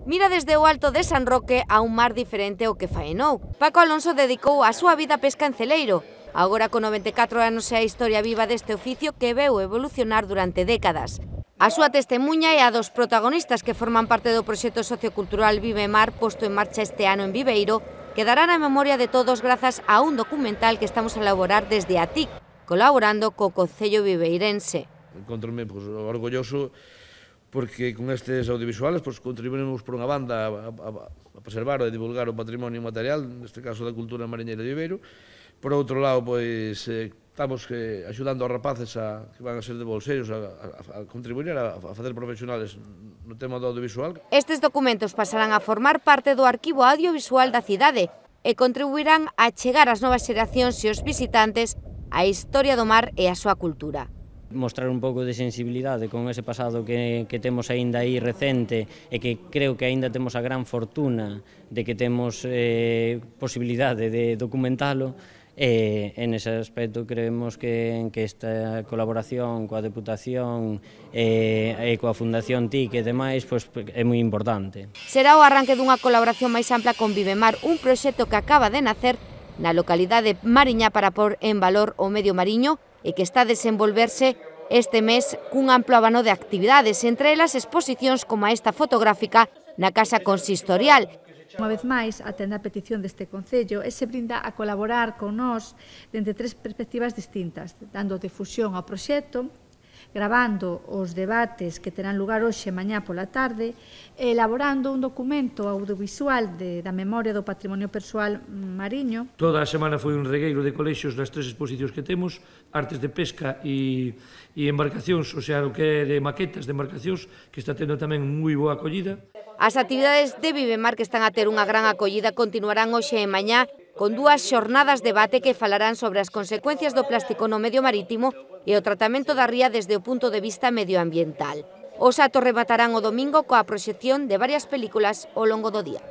Mira desde o alto de San Roque a un mar diferente ao que faenou. Paco Alonso dedicou a súa vida a pesca en celeiro. Agora con 94 anos é a historia viva deste oficio que veu evolucionar durante décadas. A súa testemuña é a dos protagonistas que forman parte do proxecto sociocultural Vive Mar posto en marcha este ano en Viveiro, que dará na memoria de todos grazas a un documental que estamos a elaborar desde a TIC, colaborando co Concello Viveirense. Encontro-me orgulloso porque con estes audiovisuales contribuímos por unha banda a preservar e a divulgar o patrimonio material, neste caso da cultura mariñeira de Viveiro. Por outro lado, estamos axudando aos rapaces que van a ser de bolseiros a contribuir a facer profesionales no tema do audiovisual. Estes documentos pasarán a formar parte do arquivo audiovisual da cidade e contribuirán a chegar ás novas xeracións e os visitantes a historia do mar e a súa cultura. Mostrar un pouco de sensibilidade con ese pasado que temos aínda aí recente e que creo que aínda temos a gran fortuna de que temos posibilidade de documentalo. En ese aspecto creemos que esta colaboración coa Deputación e coa Fundación TIC e demais é moi importante. Será o arranque dunha colaboración máis ampla con Vivemar, un proxecto que acaba de nacer na localidade mariña para pôr en valor o medio mariño e que está a desenvolverse este mes cun amplo abano de actividades, entre elas exposicións como esta fotográfica na Casa Consistorial. Unha vez máis, atende a petición deste Concello e se brinda a colaborar con nós dende tres perspectivas distintas, dando difusión ao proxecto, gravando os debates que terán lugar hoxe e mañá pola tarde, e elaborando un documento audiovisual da memoria do patrimonio persoal mariño. Toda a semana foi un regueiro de colexios nas tres exposicións que temos, artes de pesca e embarcacións, o sea, o que é de maquetas de embarcacións, que está tendo tamén moi boa acollida. As actividades de Vivemar que están a ter unha gran acollida continuarán hoxe e mañá con dúas xornadas de debate que falarán sobre as consecuencias do plástico no medio marítimo e o tratamento da ría desde o punto de vista medioambiental. Os actos rematarán o domingo coa proxección de varias películas ao longo do día.